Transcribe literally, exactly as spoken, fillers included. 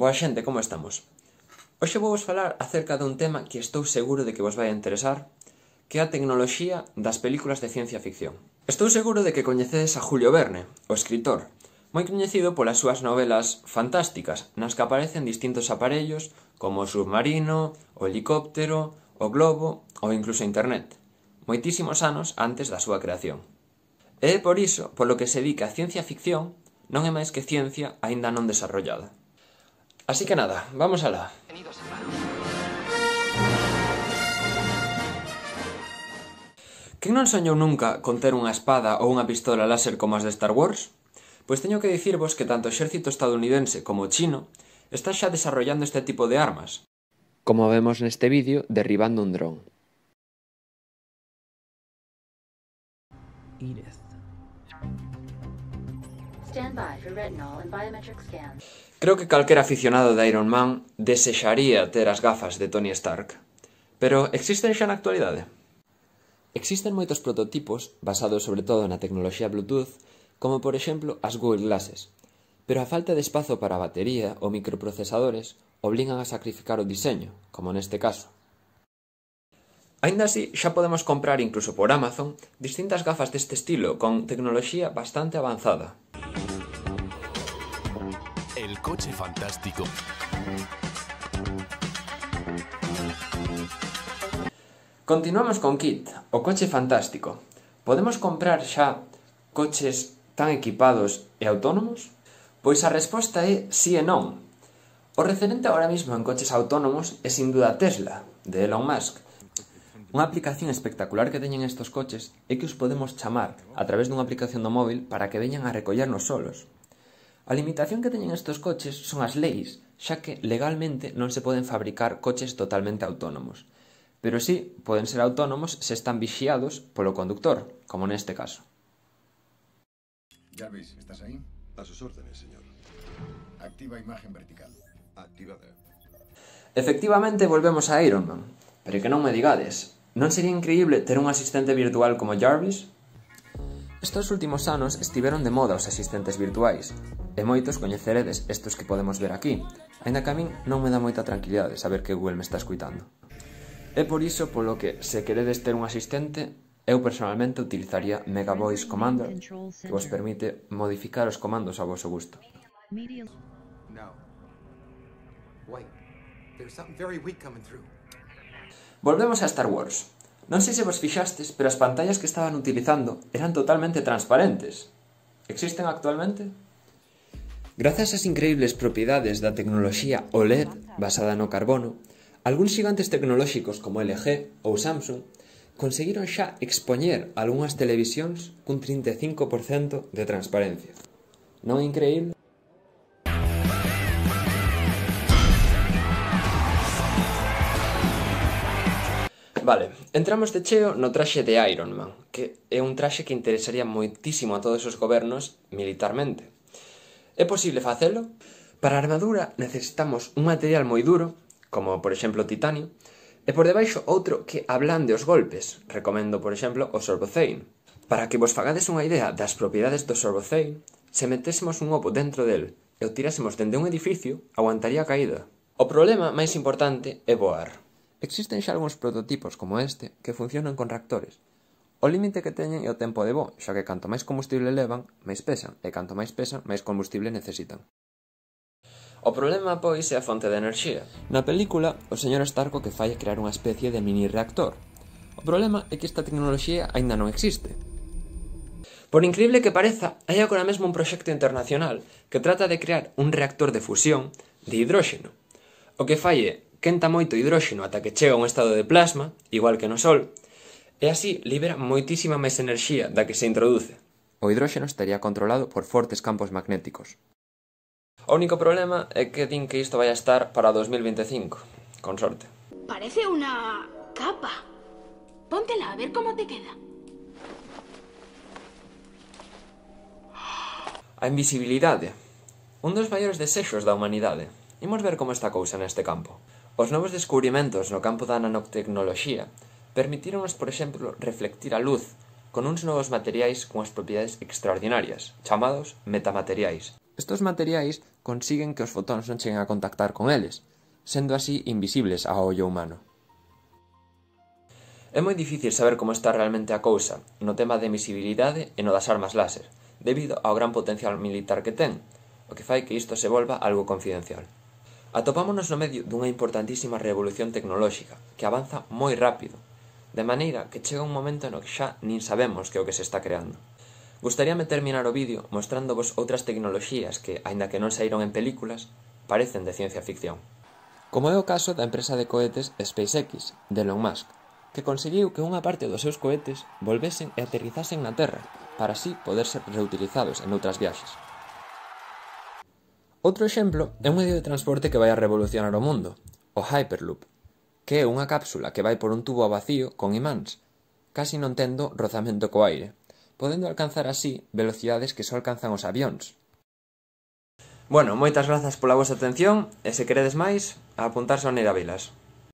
Boa xente, como estamos? Hoxe vou vos falar acerca dun tema que estou seguro de que vos vai a interesar, que é a tecnoloxía das películas de ciencia ficción. Estou seguro de que coñecedes a Julio Verne, o escritor, moi coñecido polas súas novelas fantásticas, nas que aparecen distintos aparellos como o submarino, o helicóptero, o globo ou incluso internet, moitísimos anos antes da súa creación. E é por iso polo que se di que a ciencia ficción non é máis que ciencia aínda non desarrollada. Así que nada, vamos alá. Quen non soñou nunca con ter unha espada ou unha pistola láser como as de Star Wars? Pois teño que dicirvos que tanto o exército estadounidense como o chino está xa desarrollando este tipo de armas, como vemos neste vídeo derribando un dron. Edith. Stand by for retinol and biometric scans. Creo que calquera aficionado de Iron Man desexaría ter as gafas de Tony Stark. Pero existen xa na actualidade? Existen moitos prototipos, basados sobre todo na tecnoloxía Bluetooth, como por exemplo as Google Glasses, pero a falta de espazo para a batería ou microprocesadores obligan a sacrificar o diseño, como neste caso. Aínda así, xa podemos comprar incluso por Amazon distintas gafas deste estilo con tecnoloxía bastante avanzada. El coche fantástico. Continuamos con Kit, o coche fantástico. Podemos comprar xa coches tan equipados e autónomos? Pois a resposta é sí e non. O referente agora mesmo en coches autónomos é sin duda Tesla, de Elon Musk. Unha aplicación espectacular que teñen estes coches é que os podemos chamar a través dunha aplicación do móvil para que veñan a recollernos solos. A limitación que teñen estes coches son as leis, xa que legalmente non se poden fabricar coches totalmente autónomos. Pero sí, poden ser autónomos se están vixiados polo conductor, como neste caso. Jarvis, ¿estás ahí? A sus órdenes, señor. Activa imagen vertical. Activada. Efectivamente, volvemos a Iron Man. Pero que non me digades, non sería increíble ter un asistente virtual como Jarvis? Estos últimos anos estiveron de moda os asistentes virtuais, e moitos coñeceredes estos que podemos ver aquí, aínda que a min non me dá moita tranquilidade saber que Google me está escuitando. É por iso polo que, se queredes ter un asistente, eu personalmente utilizaría Mega Voice Commander, que vos permite modificar os comandos a vosso gusto. No. Wait. There's something very weak coming through. Volvemos a Star Wars. Non sei se vos fixastes, pero as pantallas que estaban utilizando eran totalmente transparentes. Existen actualmente? Grazas ás increíbles propiedades da tecnoloxía O L E D basada no carbono, algúns xigantes tecnolóxicos como L G ou Samsung conseguiron xa expoñer algunhas televisións cun trinta e cinco por cento de transparencia. Non é increíble? Vale, entramos de cheo no traxe de Iron Man, que é un traxe que interesaría moitísimo a todos os gobernos militarmente. É posible facelo? Para a armadura necesitamos un material moi duro, como por exemplo titanio, e por debaixo outro que ablande os golpes, recomendo por exemplo o Sorbothane. Para que vos fagades unha idea das propiedades do Sorbothane, se metésemos un ovo dentro del e o tirásemos dende un edificio, aguantaría a caída. O problema máis importante é voar. Existen xa algúns prototipos como este que funcionan con reactores. O límite que teñen é o tempo de voo, xa que canto máis combustible levan, máis pesan, e canto máis pesan, máis combustible necesitan. O problema, pois, é a fonte de enerxía. Na película, o señor Stark o que fai é crear unha especie de mini reactor. O problema é que esta tecnoloxía aínda non existe. Por increíble que pareza, hai agora mesmo un proxecto internacional que trata de crear un reactor de fusión de hidróxeno. O que fai é quenta moito hidróxeno ata que chega a un estado de plasma, igual que no Sol, e así libera moitísima máis enerxía da que se introduce. O hidróxeno estaría controlado por fortes campos magnéticos. O único problema é que din que isto vai a estar para dos mil vinte e cinco, con sorte. Parece una capa. Póntela a ver cómo te queda. A invisibilidade. Un dos maiores desexos da humanidade. Imos ver como está a cousa neste campo. Os novos descubrimentos no campo da nanotecnoloxía permitíronos, por exemplo, reflectir a luz con uns novos materiais con as propiedades extraordinarias, chamados metamateriais. Estos materiais consiguen que os fotóns non cheguen a contactar con eles, sendo así invisibles ao ollo humano. É moi difícil saber como está realmente a cousa no tema de emisibilidade e no das armas láser, debido ao gran potencial militar que ten, o que fai que isto se volva algo confidencial. Atopámonos no medio dunha importantísima revolución tecnolóxica que avanza moi rápido, de maneira que chega un momento no que xa nin sabemos que é o que se está creando. Gustaríame terminar o vídeo mostrándovos outras tecnoloxías que, aínda que non saíron en películas, parecen de ciencia ficción. Como é o caso da empresa de cohetes SpaceX, de Elon Musk, que conseguiu que unha parte dos seus cohetes volvesen e aterrizasen na Terra, para así poder ser reutilizados en outras viaxes. Outro exemplo é un medio de transporte que vai a revolucionar o mundo, o Hyperloop, que é unha cápsula que vai por un tubo a vacío con imáns, casi non tendo rozamento co aire, podendo alcanzar así velocidades que só alcanzan os avións. Bueno, moitas grazas pola vosa atención e se queredes máis, a apuntarse ao Neira Vilas.